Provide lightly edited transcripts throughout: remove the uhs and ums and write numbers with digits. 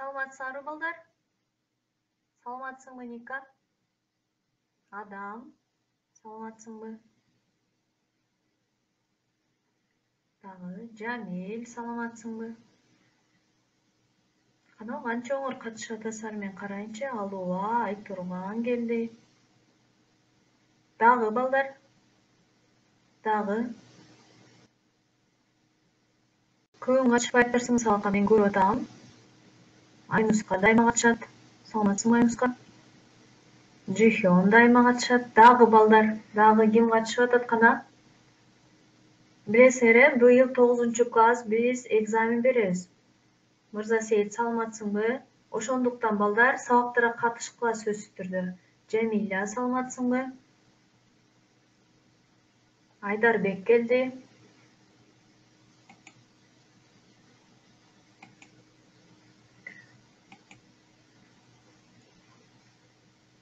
Саламатсыңарбы балдар? Саламатсыңбы Ника? Адам, саламатсыңбы? Дагы Жамил, саламатсыңбы? Кана канча оңор катышып атасыңар, мен карайынчы. Алууа, Айтурган келди. Дагы балдар? Дагы көбүң катышпай атарсыңыз, сабакка мен көрүп атам. Айнуска дайыма катышат. Саламатсыңбы Айнуска? Жихён дайыма катышат. Дагы балдар, дагы ким катышып атат кана? Билесиңер, быйыл 9-класс биз экзамен беребиз. Мырзасейит, саламатсыңбы? Ошондуктан балдар сабактарга катышкыла сөзсүз түрдө. Жамиля, саламатсыңбы? Айдарбек келди.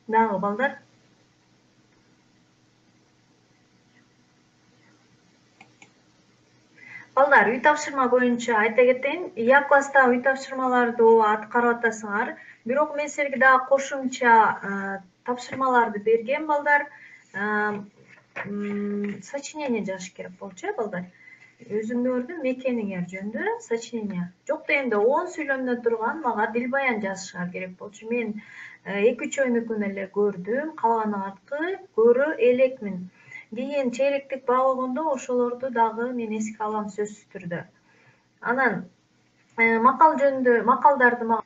Дагы балдар? Балдар, үй тапшырма боюнча айта кетейин. Я класста үй тапшырмаларды аткарып атасыңар. Бирок мен силерге дагы кошумча тапшырмаларды берген балдар. Сочинение жазыш керек болчу, балдар. Өзүңөрдүн мекениңер жөнүндө сочинение. Жок дегенде 10 сүйлөмдөн турган мага дил баян жазышыңар керек болчу. Мен 2-3 өнүкүн эле көрдүм, калганы аркы көрө элекмин. Кийин чейректик багыгондо ошолорду дагы мен эске алам сөзсүз түрдө. Анан макал жөнүндө макалдарды мага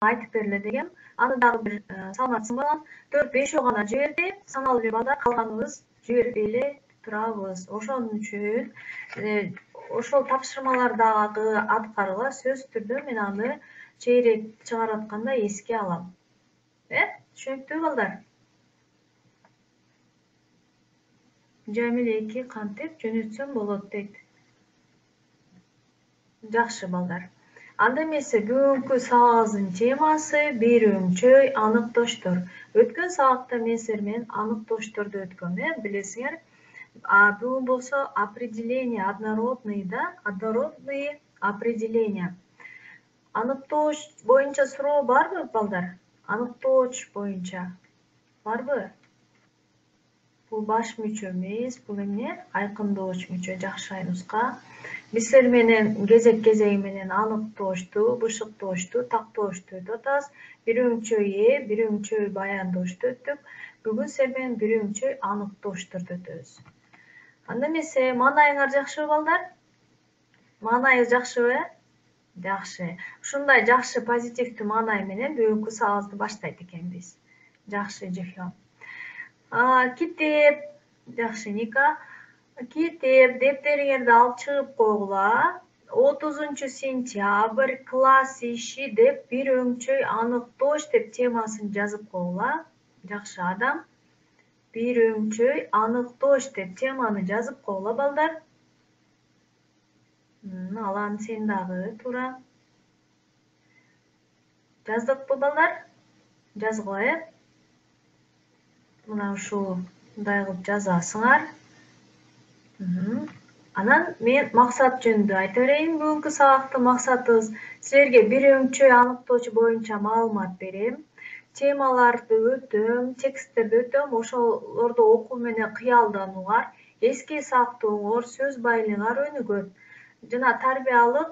айтып бергиле дегем. Аны дагы бир саламатсың балам. 4-5 гана жиберди. Саналуу эле балдар, калганыбыз жибербей эле турабыз. Ошон үчүн ошол тапшырмалардагы аткарууга сөзсүз түрдө мен аны чейрек чыгарып атканда эске алам. Түшүнүктүүбү балдар? Жамил 2 кантип жөнөтсөм болот дейт. Жакшы балдар. Анда эмесе бүгүнкү сабагыбыздын темасы бирөңчөй аныктоштор. Өткөн сабакта мен силер менен аныктошторду өткөм, билесиңер. Бүгүн болсо определение однородные определения. Аныктооч боюнча суроо барбы, балдар? Аныктооч боюнча барбы? Бул баш мүчө эмес, бул эмне? Айкындооч мүчө. Жакшы, Айнуска. Биз силер менен кезек-кезеги менен аныктоочту, бышыктоочту, тактоочту өтүп атабыз. Бирөңчөй бирөңчөй баяндоочту өттүк. Бүгүн силер менен бирөңчөй аныктоочторду өтөбүз. Анда эмесе маанайыңар жакшыбы, балдар? Маанайыңыз жакшыбы? Жакшы. Ушундай жакшы позитивдүү маанай менен бүгүнкү сабагыбызды баштайт экенбиз. Жакшы, Жихён. Китеп. Жакшы, Ника. Китеп, дептериңерди алып чыгып койгула. 30-сентябрь класс иши деп бирөңчөй аныктооч деп темасын жазып койгула. Жакшы, Адам. Бирөңчөй аныктооч деп теманы жазып койгула, балдар. Алан, сен дагы туура. Жаздыкпы, балдар? Жазгыла, Мына ушундай кылып жазасыңар. Анан мен максат жөнүндө айта берейин. Бүгүнкү сабактын максатыбыз силерге бирөңчөй аныктоочу боюнча маалымат берем. Темаларды өтөм, тексттерди өтөм. Ошолорду окуу менен кыялданууңар, эске сактооңор, сөз байлыгыңар өнүгөт. Жана тарбиялык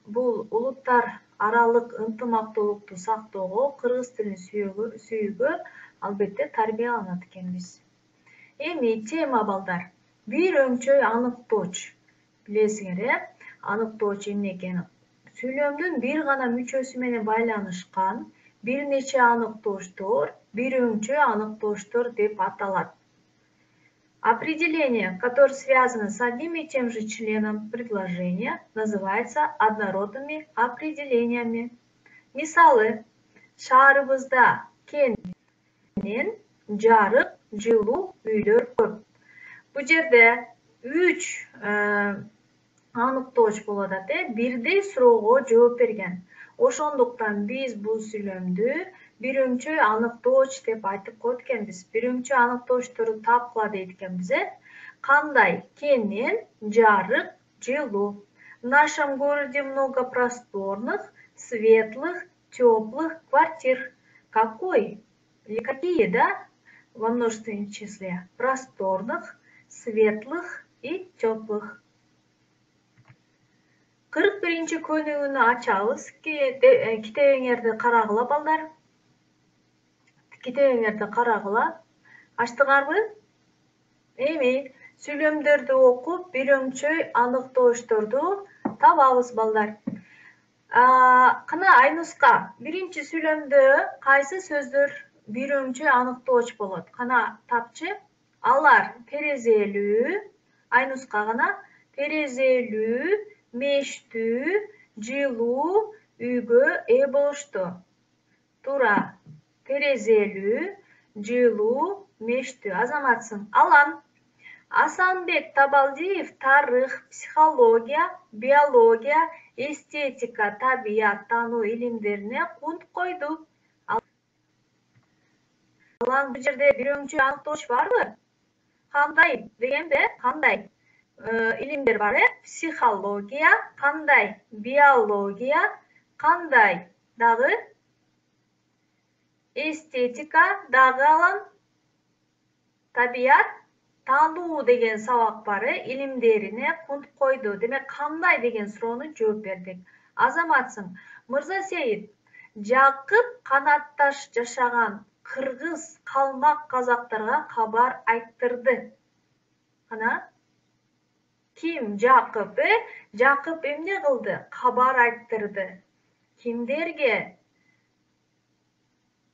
бул улуттар аралык ынтымактуулукту сактоого, кыргыз тилин сүйүүгө албетте тарбияланат экенбиз. Эми тема, балдар. Бирөңчөй аныктооч. Билесиңер, аныктооч эмне экенин. Сүйлөмдүн бир гана мүчөсү менен байланышкан бир нече аныктоочтор бирөңчөй аныктоочтор деп аталат. Определение, которое связано с одним и тем же членом предложения, называется однородными определениями. Мисалы, шаарыбызда кен менен жарык, жылуу үйлөр көп. Бул жерде 3 аныктооч болуп атат, бирдей суроого жооп берген. Ошондуктан биз бул сүйлөмдү бирөңчөй аныктооч деп айтып коет экенбиз. Бирөңчөй аныктоочторду тапкыла дейт экенбиз. Кандай? Кен менен жарык, жылуу. В нашем городе много просторных, светлых, теплых квартир. Какой? Или какие, да? Во множественном числе. Просторных, светлых и теплых. 41-ci kөнүгүнү ачабыз. Китебиңерди карагыла балдар. Китебиңерди карагыла. Ачтыңарбы? Эми сүйлөмдөрдү окуп, бирөңчөй аныктоочторду табабыз балдар. Кына Айнуска, биринчи сүйлөмдө кайсы сөздөр бирөңчөй аныктооч болот? Кана тапчы. Алар терезелүү, Айнуска гана терезелүү, мештүү, жылуу үйгө ээ болушту. Туура. Терезелүү, жылуу, мештүү. Азаматсың. Алан. Асанбек Табалдиев тарых, психология, биология, эстетика, табият таануу илимдерине кунт койду. Алан, бул жерде бирөңчөй аныктооч барбы? Кандай дегенде, кандай илимдер бар, Психология, кандай? Биология, кандай? Дагы? Эстетика, дагы Алан? Табият, таануу деген сабак бар, илимдерине кунт койду. Демек, кандай деген суроону жооп бердик. Азаматсың. Мырзасейит, Жакып канатташ жашаган кыргыз, калмак казактарга кабар айттырды. Кана? Ким? Жакып, Жакып эмне кылды? Кабар айттырды. Кимдерге?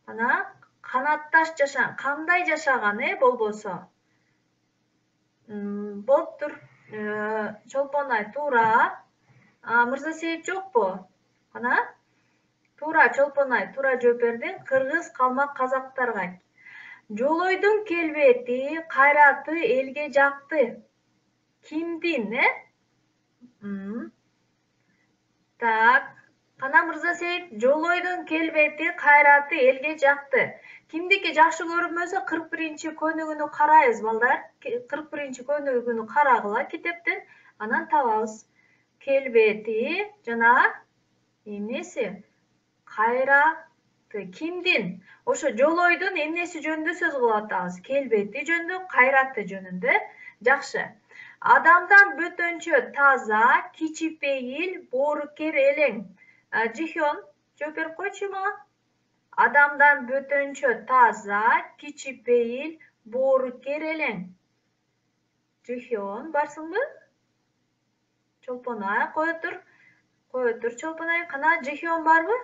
Кана? Канатташ жашаган. Кандай жашаган, болбосо? Болуптур. Чолпонай, туура. Мырзасейит жокпу? Кана? Туура, Чолпонай, туура жооп бердиң. Кыргыз, калмак казактарга. Жолойдун келбети, кайраты элге жакты. Кимдин, Так. Кана Мырзасейит, Жолойдун келбети, кайраты элге жакты. Кимдики жакшы көрүнбөсө 41-ci көнүгүнү карайбыз балдар. 41-ci көнүгүнү карагыла китептен, анан табабыз. Келбети жана эмнеси? Кайраты. Кимдин? Ошо Жолойдун эмнеси жөнүндө сөз кылып атабыз? Келбети жөнүндө, кайраты жөнүндө. Жакшы. Адамдан бөтөнчө таза, кичипейил, боорукер элең. Жихён, жооп берип койчу мага. Адамдан бөтөнчө таза, кичипейил, боорукер элең. Жихён, барсыңбы? Чолпонай, кое тур Чолпонай. Кана Жихён барбы?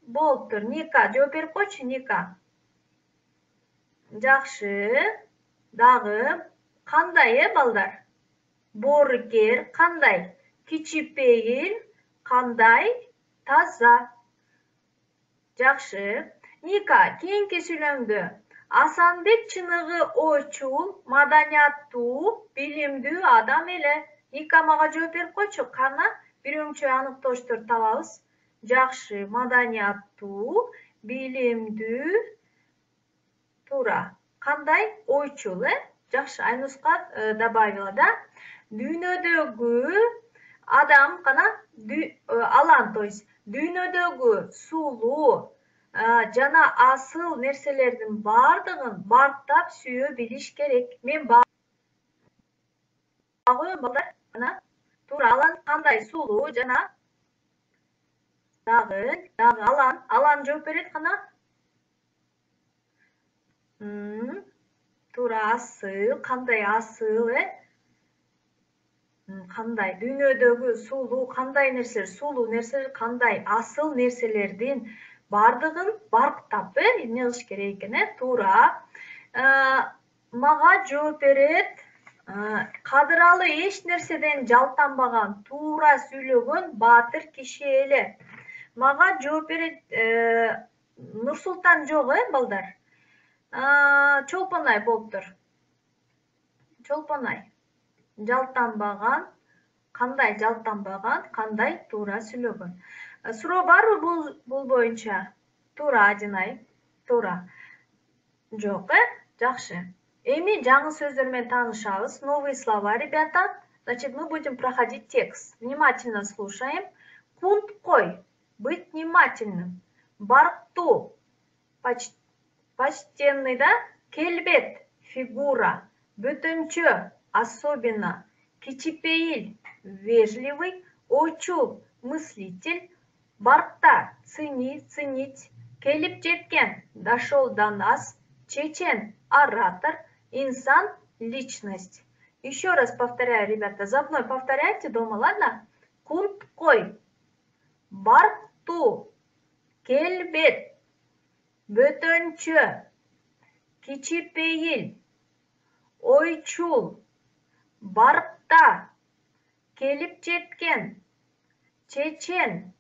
Болуптур. Ника, жооп берип койчу, Ника. Жакшы. Дагы кандай, балдар? Боорукер, кандай? Кичипейил, кандай? Таза. Жакшы. Ника, кийинки сүйлөмдө Асанбек чыныгы ойчул, маданияттуу, билимдүү адам эле. Ника мага жооп берип койчу. Кана бирөңчөй аныктоочтор табабыз. Жакшы. Маданияттуу, билимдүү. Туура. Кандай? Ойчул, Жакшы. Айнуска добавила, да? Дүйнөдөгү адам, кана? Алан, то есть дүйнөдөгү сулуу жана асыл нерселердин бардыгын барктап сүйө билиш керек. Мен багы балдар, кана? Туура, Алан кандай? Сулуу жана дагы Алан жооп берет, кана? Туура, асыл, кандай асыл, Кандай? Дүйнөдөгү сулуу кандай нерселер? Сулуу нерселер кандай? Асыл нерселердин бардыгын барктап, эмне кылыш керек экен, Туура. Мага жооп берет. Кадыралы эч нерседен жалтанбаган, туура сүйлөгөн баатыр киши эле. Мага жооп берет Нурсултан жок, балдар? Чолпонай болуптур. Чолпонай. Жалтанбаган, кандай? Жалтанбаган, кандай? Туура сүйлөгөн. Суроо барбы бул боюнча? Туура, Адинай. Туура. Жок, Жакшы. Эми жаңы сөздөр менен таанышабыз. Новые слова, ребята. Значит, мы будем проходить текст. Внимательно слушаем. Кунткой. Быть внимательным. Баркту. Почтенный, да? Келбет. Фигура. Бөтөнчө. Особенно. Кичипейил. Вежливый. Ойчул. Мыслитель. Баркта. Ценить. Келип жеткен. Дошел до нас. Чечен. Оратор. Инсан. Личность. Еще раз повторяю, ребята. За мной повторяйте дома, ладно? Кунткой. Баркту. Келбет. Бөтөнчө. Кичипейил. Ойчул. Баркта. Келип жеткен. Чечен.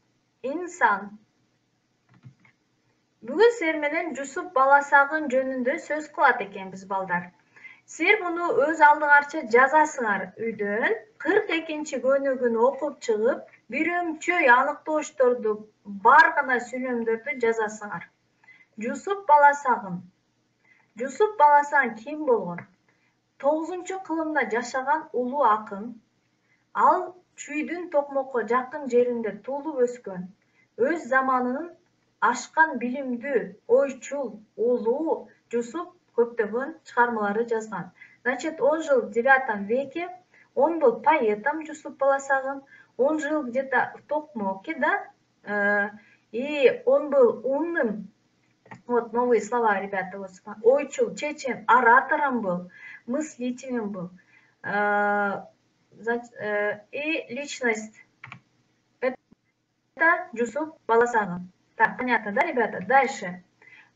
Инсан. Бүгүн силер менен Жусуп Баласагын жөнүндө сөз кылат экенбиз, балдар. Силер муну өз алдыңарча жазасыңар үйдөн. 42-чи көнүгүн окуп чыгып, бирөмчөй аныктоочторду, бар гана сүйлөмдөрдү жазасыңар. Жусуп Баласагын. Жусуп Баласагын ким болгон? 9-кылымда жашаган улуу акын. Ал Чүйдүн Токмокко жакын жеринде туулуп өскөн. Өз заманынын ашкан билимдүү, ойчул, улуу Жусуп көптөгөн чыгармаларды жазган. Значит, он жил в 9 веке он был поэтом, Жусуп Баласагын. Он жил где-то в Токмоке, да, и он был умным. Вот новые слова, ребята, вот, ойчул, чечен, оратором был, мыслителем был. И личность. Это Жусуп Баласагын. Так, понятно, да, ребята? Дальше.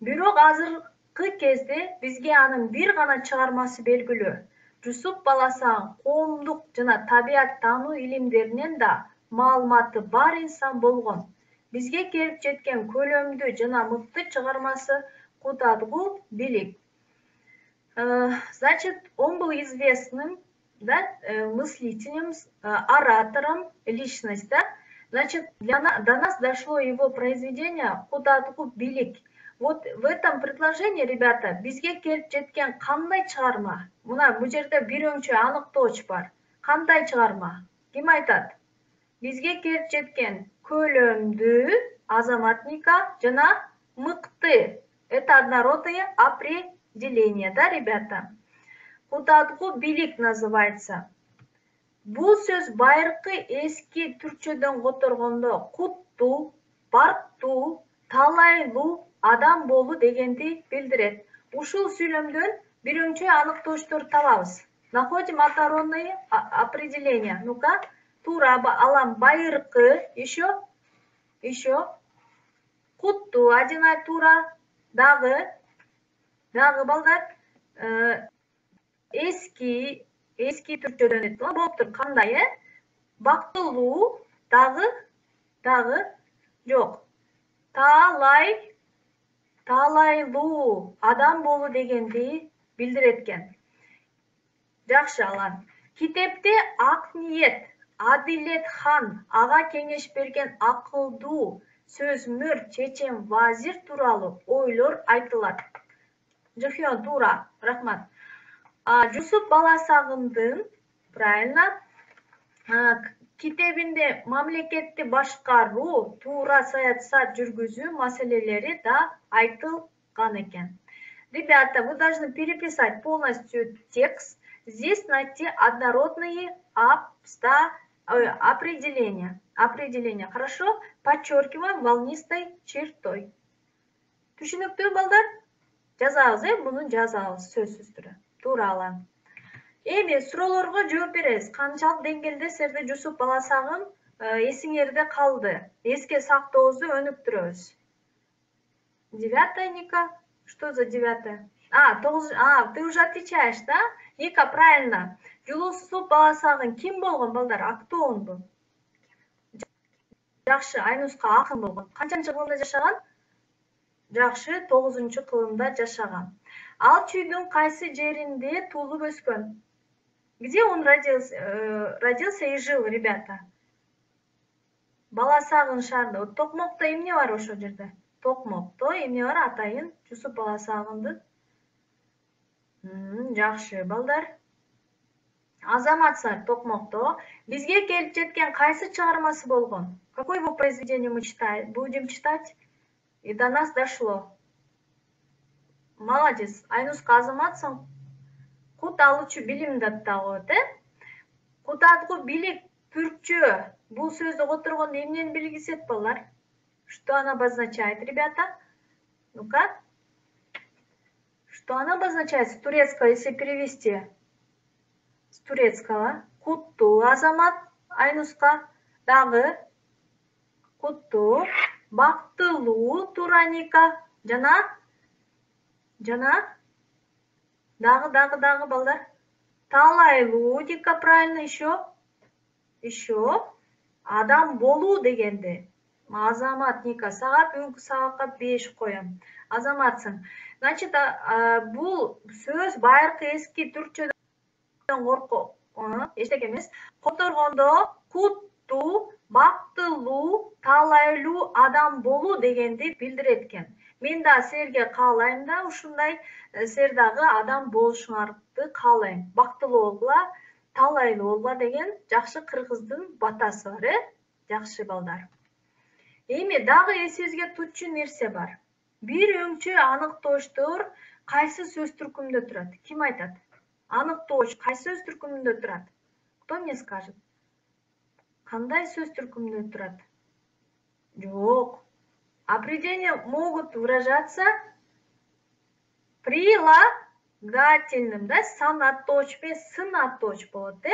Бирок азыркы кезде бизге анын бир гана чыгармасы белгилүү. Жусуп Баласагын коомдук жана табият таануу илимдеринен да маалыматы бар инсан болгон. Бизге келип жеткен көлөмдүү жана мыкты чыгармасы Кутадгу Билик. Значит, он был известным, да, мыслителем, оратором, личность, да. Значит, до нас дошло его произведение Кутадгу Билик. Вот в этом предложении, ребята, бизге келип жеткен кандай чыгарма? Мына бул жерде бирөмчө аныктооч бар. Кандай чыгарма? Ким айтат? Бизге келип жеткен көлөмдүү, азаматника жана мыкты. Это однородные определения, да, ребята? Кутадгу Билик называется. Бул сөз байыркы эски түркчөдөн которгондо куттуу, барктуу, талайлуу адам болуу дегенди билдирет. Ушул сүйлөмдөн бирөмчөй аныктоочтор табабыз. Находим однородные определения. Ну-ка, туура алам байыркы, еще куттуу, один ай туура, дагы балдар, эски түркчөдөн болуптур. Кандай, бактылуу, дагы жок. Талайлуу адам болуу дегенди билдирет экен. Жакшы, алан. Китепте ак ниет, Адилет хан, ага кеңеш берген акылдуу, сөзмөр, чечен вазир тууралуу ойлор айтылат. Жыхён, туура, рахмат. Жусуп Баласагындын, правильно, китебинде мамлекетти башкаруу, туура саясат жүргүзүү маселелери да айтылган экен. Ребята, вы должны переписать полностью текст. Здесь найти однородные определения. Хорошо? Подчеркиваем волнистой чертой. Түшүнүктүү, балдар? Жазабыз, муну жазабыз сөзсүз түрдө. Туурала. Эми суроолорго жооп беребиз. Канчалык деңгээлде силерде Жусуп Баласагын эсиңерде калды? Эске сактообузду өнүктүрөбүз. 9, Ника? Что за 9? 9. Ты уже отвечаешь, да? Ника, правильно. Жусуп Баласагын ким болгон, балдар? А кто он был? Жакшы, Айнуска акын болгон. Канчанчы кылымда жашаган? Жакшы, 9-кылымда жашаган. Ал Чүйдүн кайсы жеринде туулуп өскөн? Где он родился и жил, ребята? Баласагын шаарында. Токмокто эмне бар ошол жерде? Токмокто эмне бар? Атайын Жусуп Баласагындын. Жакшы, балдар. Азаматсыздар токмокто бизге келип жеткен кайсы чыгармасы болгон? Какое его произведение мы будем читать? И до нас дошло. Молодец. Айнуска азаматсың. Кут алуучу билим датта коет, Кут алгу билик түркчө. Бул сөздү которгондо эмнени белгисет балдар? Что она обозначает, ребята? Ну-ка. Что она обозначает с турецкого, если перевести? С турецкого. Кутту азамат, Айнуска. Дагы. Кутту. Бактылуу тураника. Жана. Дагы балдар. Талайлуу дика правильно еще. Адам болуу дегенди. Азамат Ника, сага бүгүнкү сабакка 5 коем. Азаматсың. Значит, бул сөз байыркы эски түркчөдөн коркоп, эчтеке эмес. Которгондо куттуу, бактылуу, талайлуу адам болуу дегенди билдирет экен. Мен да силерге каалайм да ушундай силер дагы адам болушуңарды каалайм. Бактылуу болгула, талайлуу болгула деген жакшы кыргыздын батасы бар, Жакшы балдар. Эми дагы эсибизге түчү нерсе бар. Бир өңчө аныктоочтор кайсы сөз түркүмүндө турат? Ким айтат? Аныктооч кайсы сөз түркүмүндө турат? Кто мне скажет? Кандай сөз түркүмүндө турат? Жок. Определения могут выражаться прилагательным, да? Санаточ мен сынаточ болот,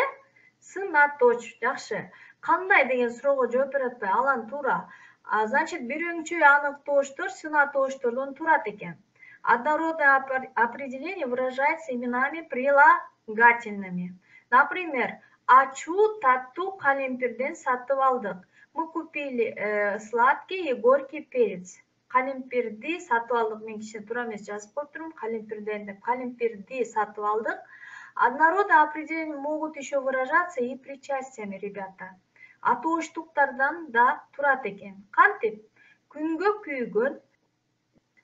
Сынаточ, жакшы. Кандай деген суроого жооп бере атпай, алан туура. Значит, бир өңчө аныктоочтор сынатоочтордон турат экен. Однородное определение выражается именами прилагательными. Например, ачуу таттуу калемпирден сатып алдык. Мы купили сладкий и горький перец. Калемпирди сатып алдык. Мен кичине туура эмес жазып коюптурмун. Калемпирден деп. Калемпирди сатып алдык. Однородные определения могут еще выражаться и причастиями, ребята. Атооштуктардан да турат экен. Кантип? Күнгө күйгөн,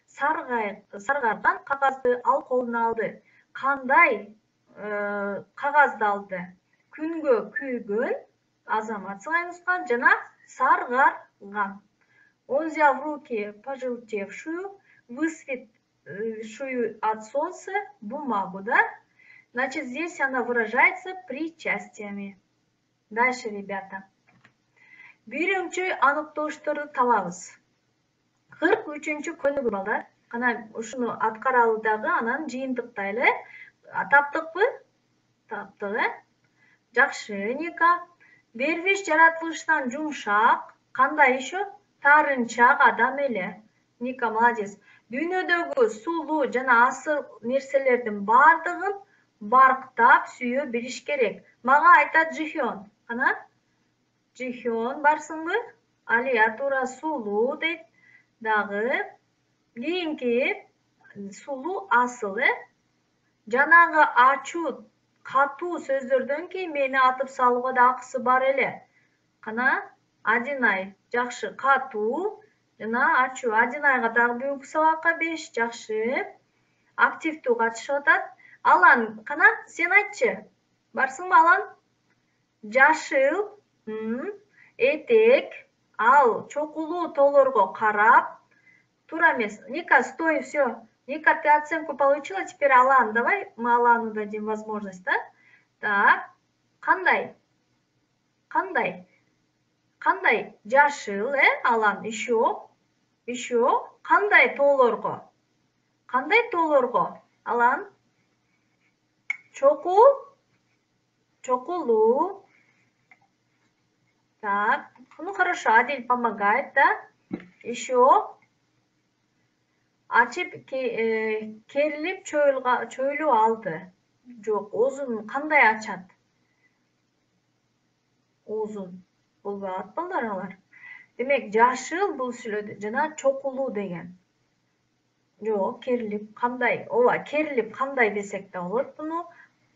саргарган кагазды ал колуна алды. Кандай кагазды алды? Күнгө күйгөн, азаматсың Айнуска, жана саргарган. Он взял в руки пожелтевшую, высветшую от солнца бумагу, да? Значит, здесь она выражается причастиями. Дальше, ребята. Бир өңчө аныктоочторду табабыз. 43-чү көнүгүү балдар. Кана ушуну аткаралы дагы анан жыйынтыктайлы. Таптыкпы? Таптык, Жакшы, Ника. Бербиш жаратылышынан жумшак. Кандай еще? Тарынчак адам эле. Ника, молодец. Дүйнөдөгү сулуу жана асыл нерселердин бардыгын барктап сүйө билиш керек. Мага айтат Жихён. Кана? Жихён барсыңбы? Алия туура сулуу дейт. Дагы кийинки сулуу асыл, Жанагы ачуу, катуу сөздөрдөн кийин мени атып салууга да акысы бар эле. Кана? Адинай. Жакшы, катуу жана ачуу. Адинайга дагы бүгүнкү сабакка 5. Жакшы. Активдүү катышып атат. Алан, кана? Сен айтчы. Барсыңбы, Алан? Жашыл, этек, ал чокулуу тоолорго карап. Туура эмес. Ника, стой, все. Ника, ты оценку получила, теперь Алан, давай мы Алану дадим возможность, да? Так, кандай? Жашыл, Алан, еще, кандай тоолорго? Алан? Чокулуу. Так, ну хорошо, Адиль помогает, да? Еще. Ачып керилип чөйлүү алды. Жок, оозун кандай ачат? Оозун болбой калат балдар алар. Демек, жашыл бул сүйлөдө жана чокулуу деген. Жок, керилип кандай? Ооба, керилип кандай десек да болот буну.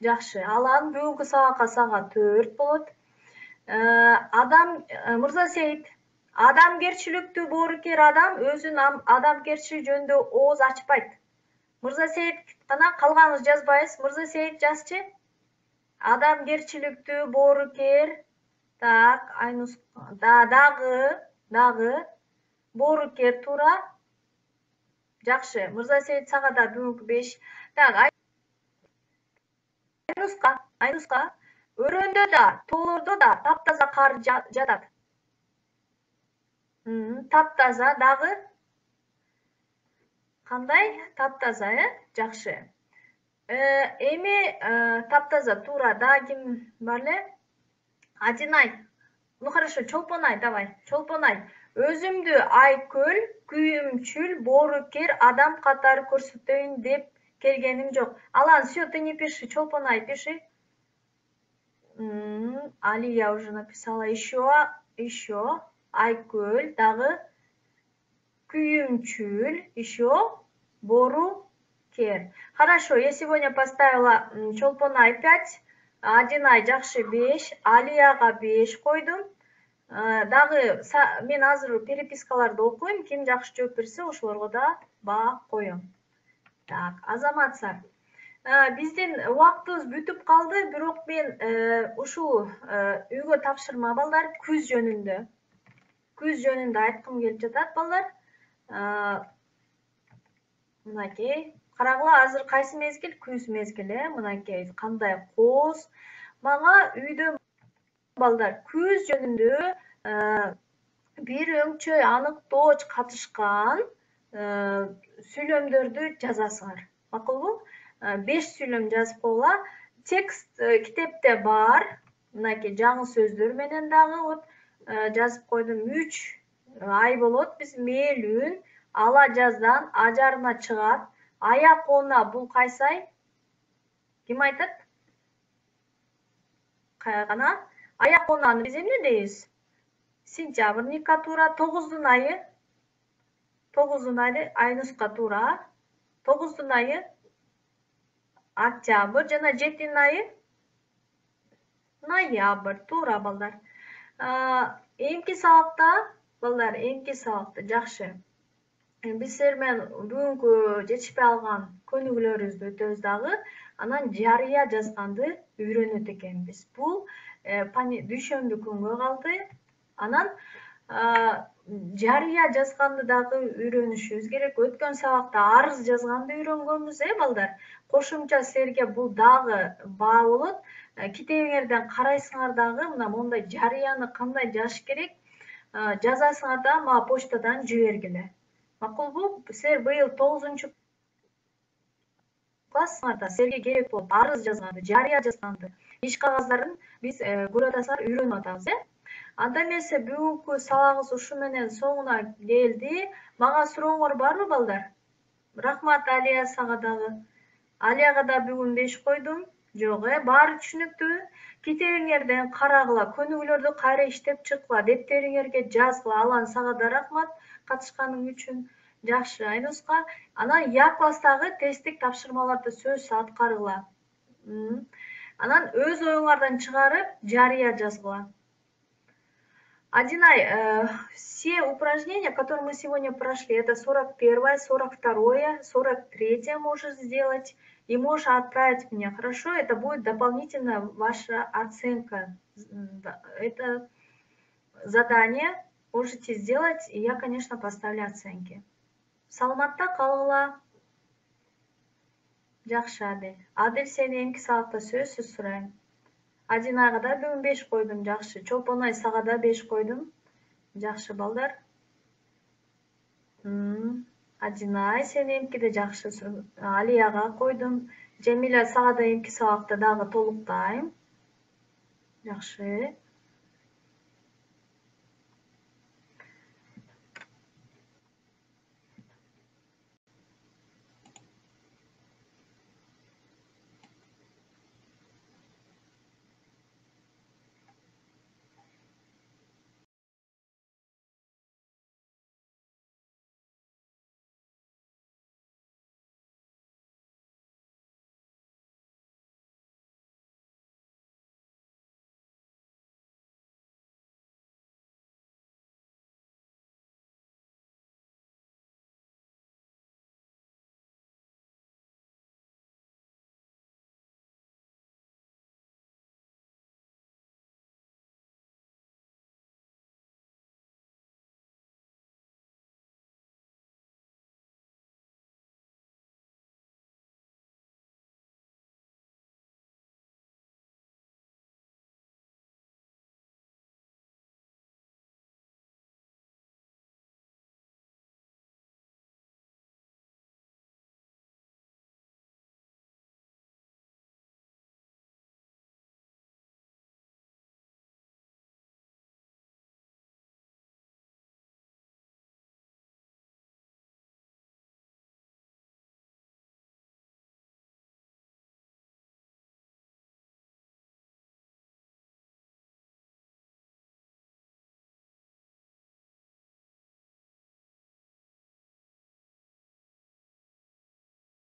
Жакшы. Алан бүгүнкү сабакка сага 4 болот. Адам Мырза Сейит, адамгерчиликтүү боорукер адам өзүн адамгерчилик жөнүндө ооз ачпайт. Мырза Сейит, кана калганыңызды жазбайсыз. Мырза Сейит жазчы. Адамгерчиликтүү, боорукер. Так, Айнус дагы боорукер туура. Жакшы. Мырзасейит сага да бүгүнкү 5. Так, Айнуска. Өрөөндө да, тоолордо да таптаза кар жатат. Таптаза дагы. Кандай? Таптаза, Жакшы. Эми таптаза туура. Дагы ким бар эле? Адинай. Ну хорошо, Чолпонай, давай. Чолпонай. Өзүмдү айкөл, күйүмчүл, боорукер адам катары көрсөтөйүн деп келгеним жок. Алан, всё, ты не пиши, Чолпонай, пиши. Алия уже написала. Еще. Айкөл, дагы. Күйүмчүл, еще. Боорукер. Хорошо, я сегодня поставила Чолпонай 5. Адинай жакшы 5, Алияга 5 койдум. Дагы мен азыр перепискаларды окуйм, ким жакшы жооп берсе ошолорго да баа коем. Так, Азаматсар. Биздин убактыбыз бүтүп калды, бирок мен ушул үйгө тапшырма балдар күз жөнүндө айткым келип жатат балдар. Мынакей, карагыла, азыр кайсы мезгил? Күз мезгили. Мынакей, кандай коз. Мага үйдө балдар күз жөнүндө бир өңчөй аныктооч катышкан сүйлөмдөрдү жазасыңар. Макулбу? 5 сүйлөм жазып койгула. Текст китепте бар. Мынакей жаңы сөздөр менен дагы вот жазып койдум. 3 ай болот. Биз мээлүүн ала жаздан ажарына чыгат. Аяк оона бул кайсы ай? Ким айтат? Кайгана? Аяк оонаны биз эмне дейбиз? Сентябрныкка туура. 9-дун айы. 9-дун айы Айнуска туура. 9-дун айы октябрь жана 7-дин айы ноябрь. Туура балдар. Эмки сабакта балдар, эмки сабакта жакшы. Биз силер менен бүгүнкү жетишпей калган көнүгүүлөрүбүздү өтөбүз дагы. Анан жарыя жазганды үйрөнөт экенбиз. Бул дүйшөмбү күнгө калды. Анан жарыя жазганды дагы үйрөнүшүбүз керек. Өткөн сабакта арыз жазганды үйрөнгөнбүз, балдар. Кошумча силерге бул дагы баа болот. Китебиңерден карайсыңар дагы, мына мондай жарыяны кандай жазыш керек, жазасыңар да мага почтадан жибергиле. Макулбу? Силер быйыл 9-классыңарда силерге керек болот арыз жазганды, жарыя жазганды, иш кагаздарын биз көрүп атасыңар, үйрөнүп атабыз, Анда эмесе бүгүнкү сабагыбыз ушу менен соңуна келди. Мага сурооңор барбы, балдар? Рахмат Алия сага дагы. Алияга да бүгүн 5 койдум. Жок, баары түшүнүктүүбү? Китебиңерден карагыла, көнүгүүлөрдү кайра иштеп чыккыла, дептериңерге жазгыла. Алан сага да рахмат катышканың үчүн. Жакшы, Айнуска. Анан Я класстагы тесттик тапшырмаларды сөзсүз аткаргыла. Анан өз оюңардан чыгарып, жарыя жазгыла. Адинай, все упражнения, которые мы сегодня прошли, это 41-е, 42-е, 43-е можешь сделать и можешь отправить мне, хорошо? Это будет дополнительная ваша оценка. Это задание можете сделать, и я, конечно, поставлю оценки. Саламатта калгыла. Жакшы, Адил. Адил, сени эмки сабакта сөзсүз сурайм. Адинайга да бүгүн 5 койдум, жакшы. Чолпонай сага да 5 койдум. Жакшы, балдар. Адинай, сени эмкиде жакшы. Алияга койдум. Жемиля сага да эмки сабакта дагы толуктайм. Жакшы.